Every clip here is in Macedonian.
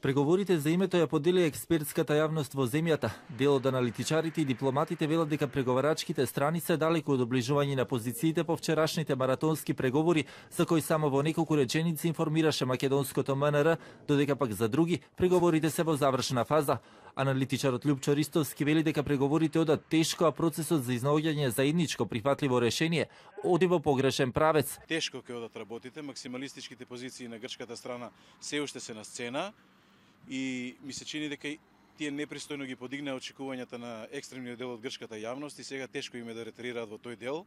Преговорите за името ја подели експертската јавност во земјата. Дел од аналитичарите и дипломатите велат дека преговарачките страни се далеку од доближување на позициите по вчерашните маратонски преговори, за кои само во неколку реченици информираше македонското МНР, додека пак за други преговорите се во завршна фаза. Аналитичарот Љупчо Ристовски вели дека преговорите одат тешко, а процесот за изнаоѓање заедничко прифатливо решение оди во погрешен правец. Тешко ќе одат работите, максималистичките позиции на грчката страна се уште се на сцена и ми се чини дека тие непристојно ги подигнаа очекувањата на екстремниот дел од грчката јавност и сега тешко им е да ретирираат во тој дел.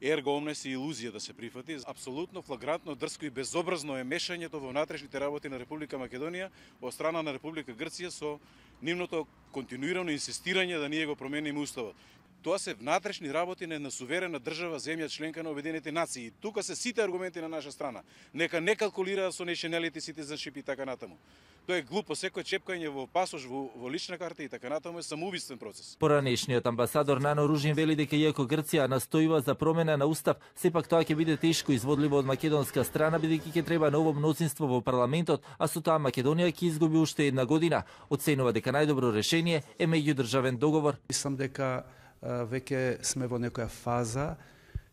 Ерго омнес и илузија да се прифати. Апсолутно флагрантно, дрско и безобразно е мешањето во внатрешните работи на Република Македонија од страна на Република Грција со нивното континуирано инсистирање да ние го промениме уставот. Тоа се внатрешни работи на една суверена држава, земја членка на Обединетите нации. Тука се сите аргументи на наша страна. Нека не калкулираат со nationality, citizenship и така натаму. Тоа е глупо, секој чепкање во пасош, во лична карта и така натаму е самоубиствен процес. Поранешниот амбасадор Нано Ружин вели дека иако Грција настојува за промена на устав, сепак тоа ќе биде тешко изводливо од македонска страна, бидејќи ќе треба ново мнозинство во парламентот, а со тоа Македонија ќе изгуби уште една година. Оценува дека најдобро решение е меѓудржавен договор. Мислам дека веќе сме во некоја фаза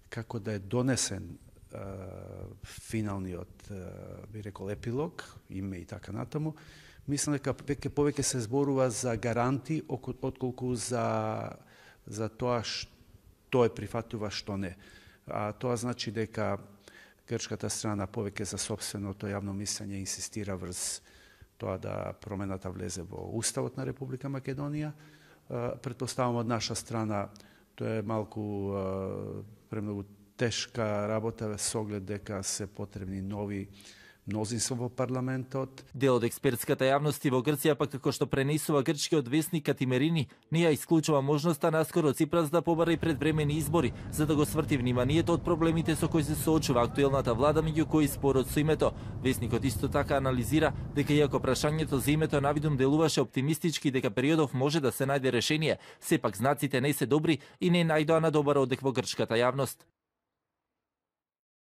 како да е донесен финалниот, би рекол, епилог, име и така натаму. Мислам дека веќе повеќе се зборува за гаранти отколку за тоа што е прифатлива, што не. А тоа значи дека грчката страна повеќе за сопственото јавно мислење инсистира врз тоа да промената влезе во уставот на Република Македонија. Претпоставам од наша страна тоа е малку премногу тешка работа со оглед дека се потребни нови мнозинство во парламентот. Дел од експертската јавност во Грција, пак како што пренесува грчкиот весник Катимерини, не ја исклучува можноста наскоро Ципрас да побара и предвремени избори, за да го сврти вниманието од проблемите со кои се соочува актуелната влада, меѓу кои спорот со името. Весникот исто така анализира дека иако прашањето за името навидум делуваше оптимистички дека периодов може да се најде решение, сепак знаците не се добри и не најдоа на добар одек во грчката јавност.